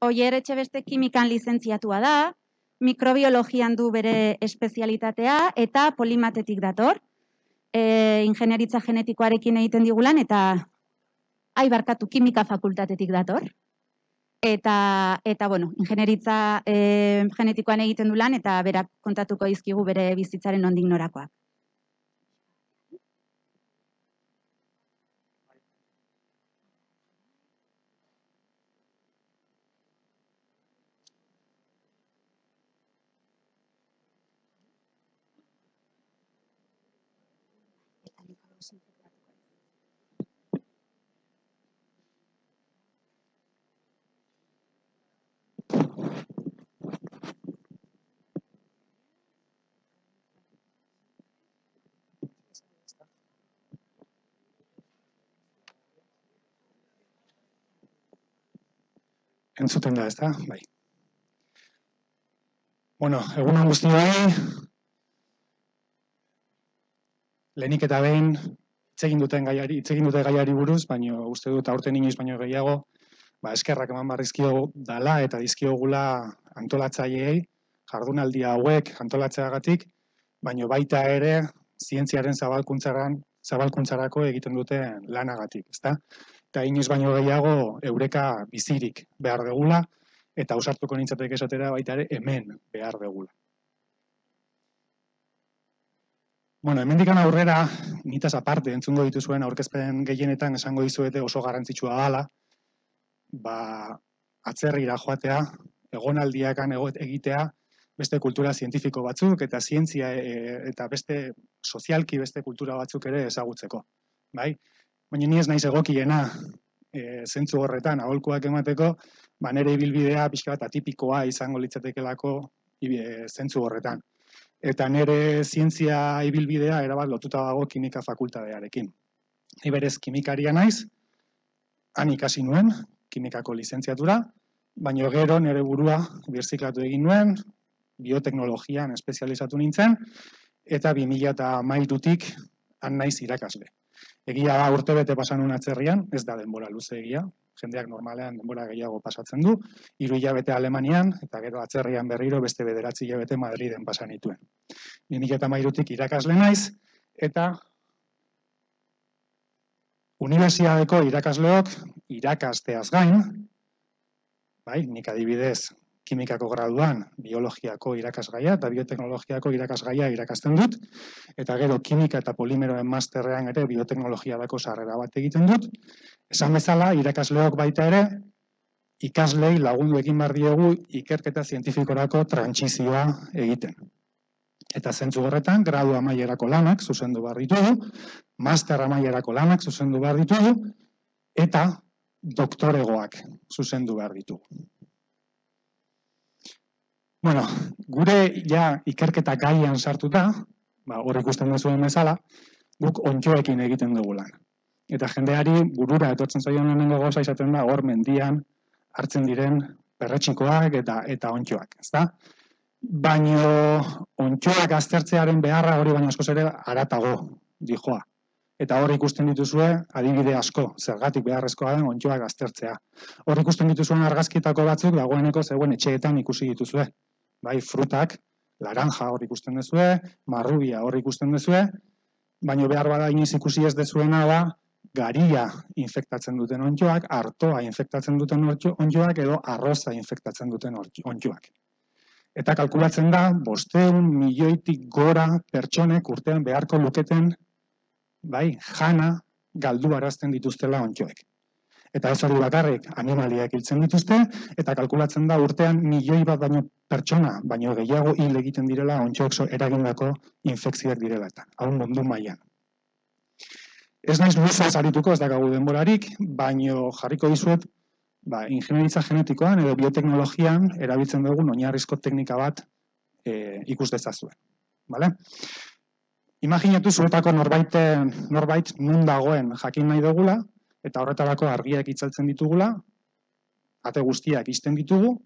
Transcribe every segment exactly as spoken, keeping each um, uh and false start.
Oier Etxebeste kimikan lizentziatua da, mikrobiologian du bere espezialitatea eta polimatetik dator. E, ingenieritza genetikoarekin egiten digulan eta ai barkatu kimika fakultatetik dator. Eta, eta bueno, ingenieritza e, genetikoan egiten du lan eta berak kontatuko dizkigu bere bizitzaren nondik norakoak. Entzuten da, ez da? Bai. Bueno, egun on guztioi, lehenik eta behin, itzegin duten gaiari, itzegin dute gaiari buruz, baina uste dut aurten inoiz baino gehiago, ba, eskerrak eman barrizkio dala eta dizkiogula antolatzaileei, jardunaldi hauek antolatzeagatik, baina baita ere zientziaren zabalkuntzaran, zabalkuntzarako egiten duten lanagatik, ezta? Eta inoiz baino gehiago eureka bizirik behar degula, eta ausartuko nintzateke esatera baita ere hemen behar degula. Bueno, hemendikan aurrera, nitaz aparte entzungo dituzuen aurkezpen gehienetan esango dizuete oso garrantzitsua dela, ba, atzerrira joatea, egonaldiakan egitea, beste kultura zientifiko batzuk eta zientzia e, eta beste sozialki beste kultura batzuk ere ezagutzeko, bai? Baina ni ez naiz egokiena e, zentzu horretan aholkuak emateko, ba nere ibilbidea pixka bat atipikoa izango litzatekelako e, zentzu horretan. Eta nere zientzia ibilbidea erabat lotuta dago kimika fakultatearekin. Ni berez kimikaria naiz, han ikasi nuen, kimikako lizentziatura, baina gero nere burua birziklatu egin nuen, bioteknologian espezializatu nintzen, eta bi mila hamairutik han naiz irakasle. Egia da urte bete pasan un atzerrian, ez da denbora luze egia, jendeak normalean denbora gehiago pasatzen du, hiru hilabete Alemanian, eta gero atzerrian berriro beste bederatzi hilabete Madriden pasan nituen. bi mila hamairutik irakasle naiz, eta unibertsitateko irakasleok irakasteaz gain, bai, nik adibidez, kimikako graduan biologiako irakasgaia eta bioteknologiako irakasgaia irakasten dut, eta gero kimika eta polimeroen masterrean ere bioteknologiadako sarrera bat egiten dut. Esan bezala, irakasleok baita ere, ikaslei lagundu egin behar diogu ikerketa zientifikorako trantsizioa egiten. Eta zentzu horretan, gradu amaierako lanak zuzendu behar ditugu, master amaierako lanak zuzendu behar ditugu, eta doktoregoak zuzendu behar ditugu. Bueno, gure ja ikerketa gaian sartuta, ba, hor ikusten duzuen bezala, guk ontxoekin egiten dugu lan. Eta jendeari burura etortzen zaion lehenengo gauza izaten da hor mendian hartzen diren perretxikoak eta eta ontxoak, ezta? Baino ontxoak aztertzearen beharra hori baino askoz ere haratago dijoa. Eta hor ikusten dituzue adibide asko, zergatik beharrezkoa den ontxoak aztertzea. Hor ikusten dituzuen argazkietako batzuk dagoeneko zegoen etxeetan ikusi dituzue. Bai, frutak, laranja hor ikusten duzue, marrubia hor ikusten duzue, baina behar bada inoiz ikusi ez dezuena da, garia infektatzen duten ontxoak, artoa infektatzen duten ontxoak edo arroza infektatzen duten ontxoak. Eta kalkulatzen da, bostehun milioitik gora pertsonek urtean beharko luketen, bai, jana galdu arazten dituztela ontxoek. Eta ez hori bakarrik animaliak hiltzen dituzte, eta kalkulatzen da urtean milioi bat baino pertsona, baino gehiago hil egiten direla ontxoek eragindako infekzioak direla eta, hau mundu mailan. Ez naiz luzaz arituko, ez dakagu denborarik, baino jarriko dizuet, ba, ingenieritza genetikoan edo bioteknologian erabiltzen dugun oinarrizko teknika bat e, ikus dezazuen. Vale? Imaginatu zuetako norbait, norbait nun dagoen jakin nahi dugula, eta horretarako argiak itzaltzen ditugula, ate guztiak ixten ditugu,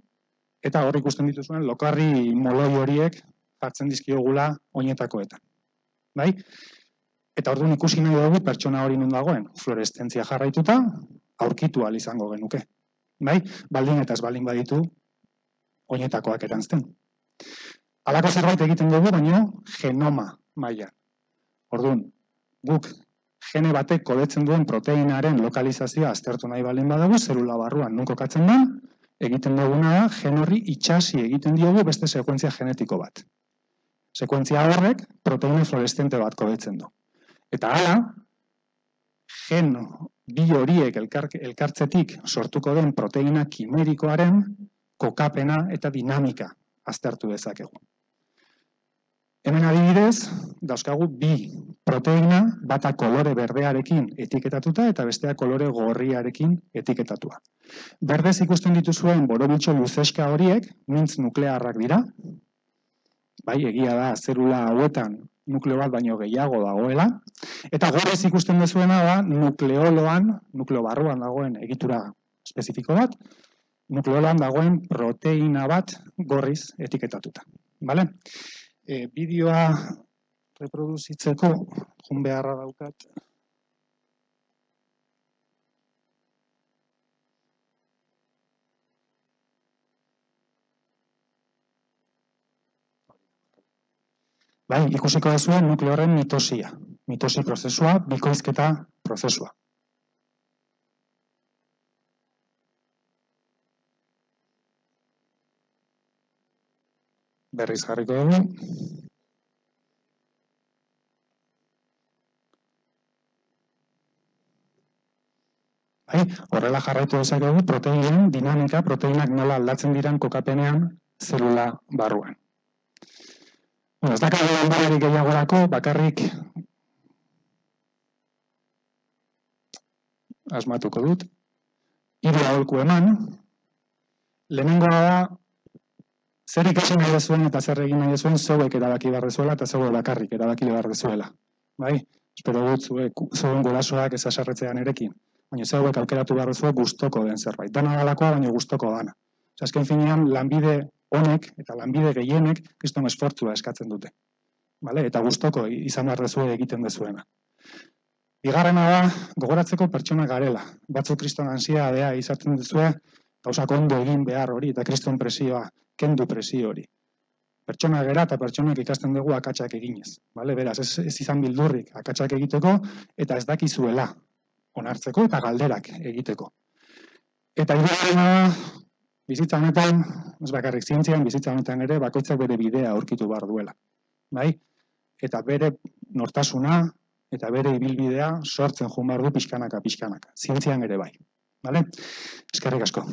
eta hor ikusten dituzuen lokarri moloi horiek jartzen dizkiogula oinetakoetan. Bai? Eta orduan ikusi nahi dugu pertsona hori nun dagoen, fluoreszentzia jarraituta, aurkitu ahal izango genuke. bai? Baldin eta ez baldin baditu, oinetakoak eranzten. Halako zerbait egiten dugu, baino genoma maila. Orduan, guk gene batek kodetzen duen proteinaren lokalizazioa aztertu nahi baldin badugu, zelula barruan non kokatzen da, egiten duguna da, gen horri itxasi egiten diogu beste sekuentzia genetiko bat. Sekuentzia horrek proteina fluoreszente bat kodetzen du. Eta hala, gen bi horiek elkartzetik sortuko den proteina kimerikoaren kokapena eta dinamika aztertu dezakegu. Hemen adibidez, dauzkagu bi proteina, bata kolore berdearekin etiketatuta eta bestea kolore gorriarekin etiketatua. Berdez ikusten dituzuen borobitxo luzeska horiek, mintz nuklearrak dira. Bai, egia da, zelula hauetan nukleo bat baino gehiago dagoela. Eta gorriz ikusten duzuena da, nukleoloan, nukleo barruan dagoen egitura espezifiko bat, nukleoloan dagoen proteina bat gorriz etiketatuta. Bale? E, bideoa reproduzitzeko jun beharra daukat. Bai, ikusiko duzuen nukleo horren mitosia. Mitosi prozesua, bikoizketa prozesua. Berriz jarriko dugu. Bai, horrela jarraitu dezakegu proteinen dinamika, proteinak nola aldatzen diran kokapenean zelula barruan. Bueno, ez dakago denborarik gehiagorako, bakarrik asmatuko dut. Hiru aholku eman. Lehenengoa da, zer ikasi nahi dezuen eta zer egin nahi dezuen zeuek erabaki behar dezuela eta zeuek bakarrik erabaki behar dezuela. Bai? Espero dut zuek zeuen gurasoak ez haserretzean erekin. Baina zeuek aukeratu behar dezuek gustoko den zerbait. Dana dalakoa, baina gustoko dana. Azken finean, lanbide honek eta lanbide gehienek kriston esfortzua eskatzen dute. Vale? Eta gustoko izan behar dezue egiten dezuena. Bigarrena da, gogoratzeko pertsona garela. Batzuk kriston ansiedadea izaten duzue, gauzak ondo egin behar hori eta kriston presioa, kendu presio hori. Pertsona gera eta pertsonak ikasten dugu akatsak eginez. Vale? Beraz, ez, ez izan bildurrik akatsak egiteko eta ez dakizuela onartzeko eta galderak egiteko. Eta hirugarrena da, bizitza honetan, ez bakarrik zientzian, bizitza honetan ere bakoitzak bere bidea aurkitu behar duela. Bai? Eta bere nortasuna eta bere ibilbidea sortzen joan behar du pixkanaka, pixkanaka. Zientzian ere bai. Vale? Eskerrik asko.